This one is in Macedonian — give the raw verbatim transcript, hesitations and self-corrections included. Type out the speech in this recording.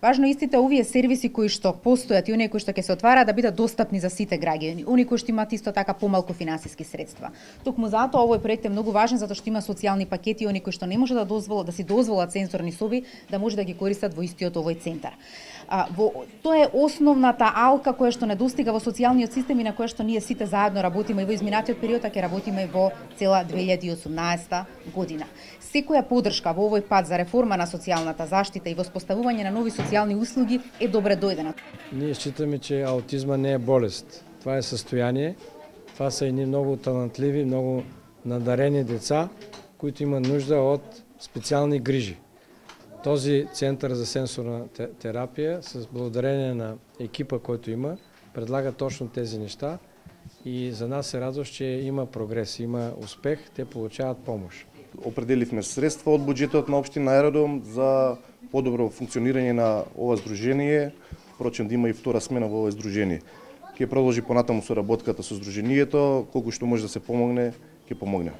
Важно истите овие сервиси кои што постојат и оние кои што ќе се отвараат да бидат достапни за сите граѓани, оние кои што имаат исто така помалку финансиски средства. Токму затоа овој проект е многу важен затоа што има социјални пакети и оние кои што не може да дозволат да си дозволат сензорни соби да може да ги користат во истиот овој центар. А, во, тоа е основната алка која што недостига во социјалниот систем и на која што ние сите заедно работиме и во изминатиот период, а ќе работиме во цела две илјади и осумнаесета година. Секоја подршка во овој пат за реформа на социјалната заштита и воспоставување на нови социјални услуги е добре дојдена. Ние считаме, че аутизма не е болест. Това е състояние. Това са едни много талантливи, много надарени деца, които имат нужда от специални грижи. Този център за сенсорна терапия, с благодарение на екипа, който има, предлага точно тези неща и за нас е радост, че има прогрес, има успех, те получават помощ. Определивме средства од буџетот на општина Аеродром за подобро функционирање на ова здружение, впрочем да има и втора смена во ова здружение. Ќе продолжи понатаму соработката со здруженијето, колку што може да се помогне, ќе помогне.